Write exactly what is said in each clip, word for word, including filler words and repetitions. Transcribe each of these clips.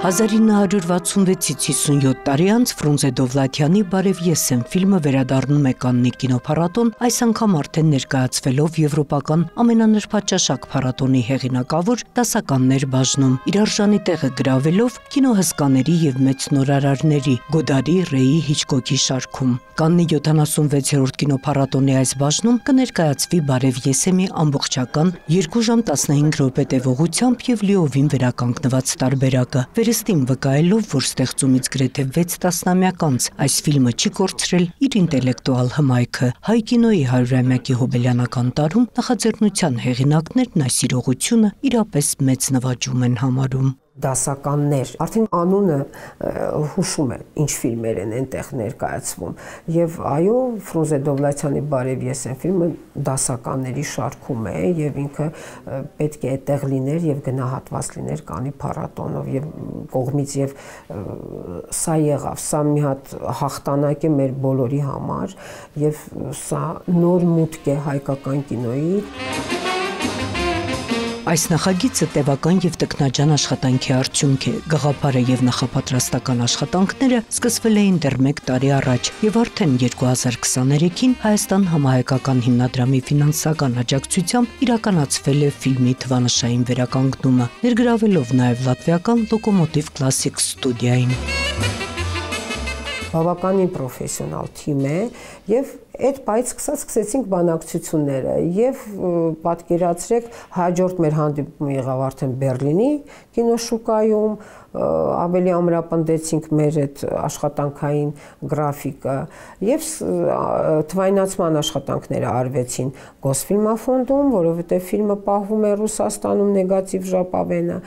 հազար ինը հարյուր վաթսունվեցից հիսունյոթ տարի անց Ֆրունզե Դովլաթյանի «Բարև ես եմ» ֆիլմը վերադառնում է Կաննի կինոփառատոն, այս անգամ արդեն ներկայացվելով եվրոպական ամենանրբաճաշակ փառատոնի հեղինակավոր դասականներ բաժնում, իր արժանի տեղը գրավելով կինոհսկաների եւ մեծ նորարարների Գոդարի, Ռեյի, Հիչկոկի շարքում։ Կաննի յոթանասունվեցերորդ կինոփառատոնի այս բաժնում կներկայացվի «Բարև ես եմ»-ի ամբողջական երկու ժամ տասնհինգ րոպե տևողությամբ եւ լիովին վերականգնված տարբերակը, վերստին վկայելով, որ ստեղծումից գրեթե վեց տասնամյակ անց այս ֆիլմը չի կորցրել իր ինտելեկտուալ հմայքը։ Հայ կինոյի հարյուրամյակի հոբելյանական տարում նախաձեռնության հեղինակներն այս իրողությունը իրապես մեծ նվաճում են համարում։ Դասականներ, արդեն անունը հուշում է, ինչ ֆիլմեր են այնտեղ ներկայացվում, եւ այո, Ֆրունզե Դովլաթյանի «Բարև ես եմ» ֆիլմը դասականների շարքում է եւ ինքը պետք է այդտեղ լիներ եւ գնահատված լիներ Կաննի փառատոնով եւ կողմից եւ սա եղավ, սա մի հատ հաղթանակ է մեր բոլորի համար եւ սա նոր մուտք է հայկական կինոյի։ Այս նախագիծը տևական եւ տքնաջան աշխատանքի արդյունք է։ Գաղափարը եւ նախապատրաստական աշխատանքները սկսվել էին դեռ մեկ տարի առաջ եւ արդեն երկու հազար քսաներեքին Հայաստան համահայկական հիմնադրամի ֆինանսական աջակցությամբ իրականացվել է ֆիլմի թվանշային վերականգնումը, ներգրավելով նաեւ լատվիական Լոկոմոտիվ Classic ստուդիային։ Բավականին պրոֆեսիոնալ թիմ է եւ այդ պայծ սկսած սկսեցինք բանակցությունները եւ պատկերացրեք հաջորդ մեր հանդիպումը եղավ արդեն Բեռլինի կինոշուկայում, ավելի ամրապնդեցինք մեր այդ աշխատանքային գրաֆիկը եւ թվայնացման աշխատանքները արվեցին Գոսֆիլմաֆոնդում, որովհետեւ ֆիլմը պահվում է Ռուսաստանում նեգատիվ ժապավենը,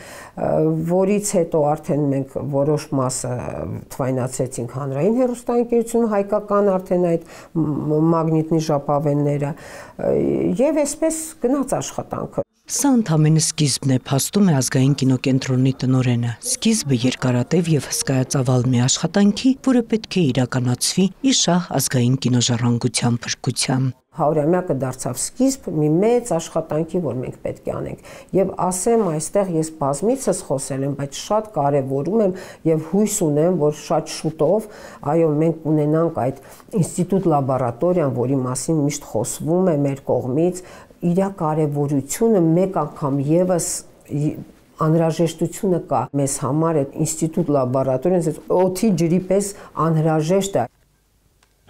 որից հետո արդեն մենք որոշ մասը թվայնացրեցինք հանրային հեռուստաընկերություն հայկական արդեն այդ մագնիտնի ժապավենները եւ այսպես գնաց աշխատանքը։ Սա ընդամենը սկիզբն է, փաստում է ազգային կինոկենտրոնի տնօրենը։ Սկիզբը երկարատև եւ հսկայածավալ մի աշխատանքի, որը պետք է իրականացվի ի շահ ազգային կինոժառանգության փրկության։ Հարյուրամյակը դարձավ սկիզբ մի մեծ աշխատանքի, որ մենք պետք է անենք։ Եվ ասեմ, այստեղ ես բազմիցս խոսել եմ, բայց շատ կարևորում եմ եւ հույս ունեմ, որ շատ շուտով, այո, մենք ունենանք այդ ինստիտուտ լաբորատորիան, որի մասին միշտ խոսվում է մեր կողմից, իր կարևորությունը մեկ անգամ եւս անհրաժեշտությունը կա մեզ համար այդ ինստիտուտ լաբորատորիան, օդի ջրի պես անհրաժեշտ է։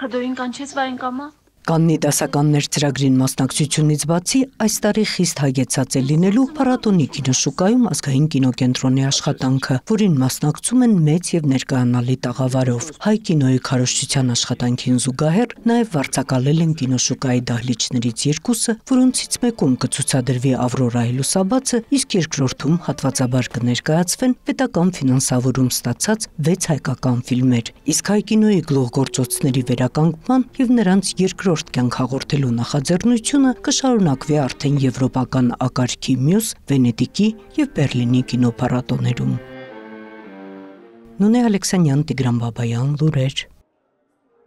Հդոին կանչեց վայնկամա։ Կաննի դասականներ ծրագրին մասնակցությունից բացի այս տարի խիստ հագեցած է լինելու փառատոնի կինոշուկայում ազգային կինոկենտրոնի աշխատանքը, որին մասնակցում են մեծ եւ ներկայանալի տաղավարով։ Հայ կինոյի քարոզչության աշխատանքին զուգահեռ նաեւ վարձակալել են կինոշուկայի դահլիճներից երկուսը, որոնցից մեկում կցուցադրվի Ավրորայի լուսաբացը, իսկ երկրորդում հատվածաբար կներկայացվեն պետական ֆինանսավորում ստացած վեց հայկական ֆիլմեր։ Իսկ հայ կինոյի գլուխգործոցների վերականգնման եւ նրանց երկրորդ կյանք հաղորդելու նախաձեռնությունը կշարունակվի արդեն եվրոպական ակարգի մյուս Վենետիկի եւ Բեռլինի կինոփառատոներում։ Նունե Ալեքսանյան, Տիգրան Բաբայան, լուրեր։